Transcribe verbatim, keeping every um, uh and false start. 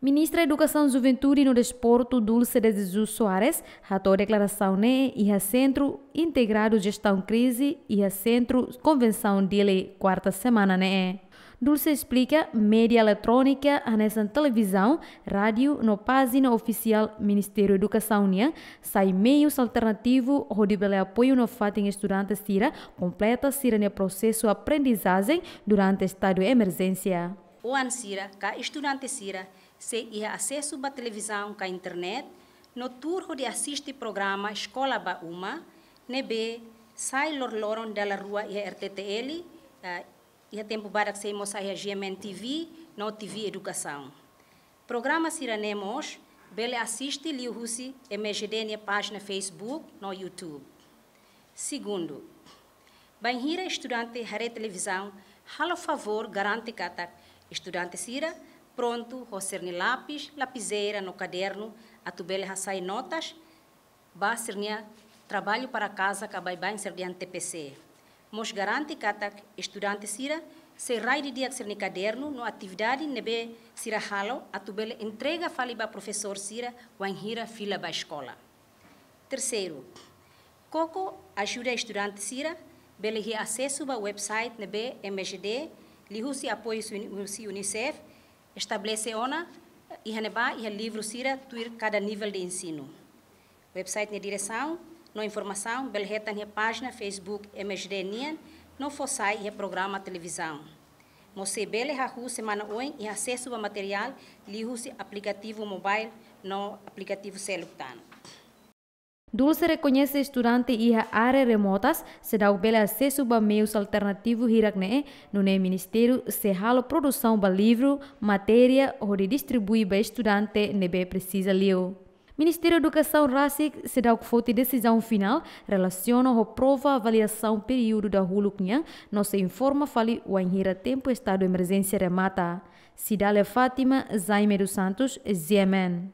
Ministra Edukasaun, Juventude no Desportu, Dulce de Jesus Soares, hato'o deklarasaun ne'e iha Sentru Integradu Jestaun Krize iha Sentru Konvensaun Dili, kuarta semana ne'e. Dulce esplika, média eletrónika hanesan televizaun, rádiu no pájina ofisiál Ministériu Edukasaun nian sai meius alternativu hodi bele apoiu nafatin estudante sira kompleta sira-nia prosesu aprendizajen durante estadu emerjénsia. Oan sira ka estudante sira sei iha asesu ba televizaun ka internet, no tuur hodi asiste programa Eskola ba Uma, ne'ebé sai loroloron dala rua iha R T T L, eh, iha tempu badak sei mós sai iha G M N T V, no T V Edukasaun. Programa sira-ne'e mós bele asiste liuhusi M J D nia pájina Facebook no YouTube. Segundu, bainhira estudante haree televizaun, halo favór garante katak estudante sira prontu ho sira-nia lapis, lapizeira no kadernu atu bele hasai notas ba sira-nia traballu para kaza ka baibain sira dehan T P C. Mós garante katak estudante sira sei rai didi'ak sira-nia kadernu no atividade ne'ebé sira halo atu bele entrega fali ba profesór sira wainhira fila ba eskola. Terseiru, koko ajuda estudante sira bele iha asesu ba website ne'ebé M J D liuhusi apoiu husi Uni-, husi UNICEF estabelese ona, iha ne'ebá iha livru sira tuir kada nivel de ensinu. Website nia diresaun no informasaun bele hetan iha pájina Facebook M J D nian no fó sai iha programa televizaun. Mós sei bele hahú semana oin iha asesu ba materiál liuhusi aplikativu mobile no aplikativu seluk tan. Dulce rekoñese estudante iha área remotas seidauk bele asesu ba meius alternativu hirak-ne'e, nune'e ministériu sei halo produsaun ba livru, matéria, hodi distribui ba estudante ne'ebé presiza liu. Ministériu Edukasaun rasik seidauk foti desizaun finál relasiona ho prova avaliasaun períodu dahuluk nian, no sei informa fali wainhira tempu estadu emerjénsia remata. Cidália Fátima, Jaime dos Santos, G M N.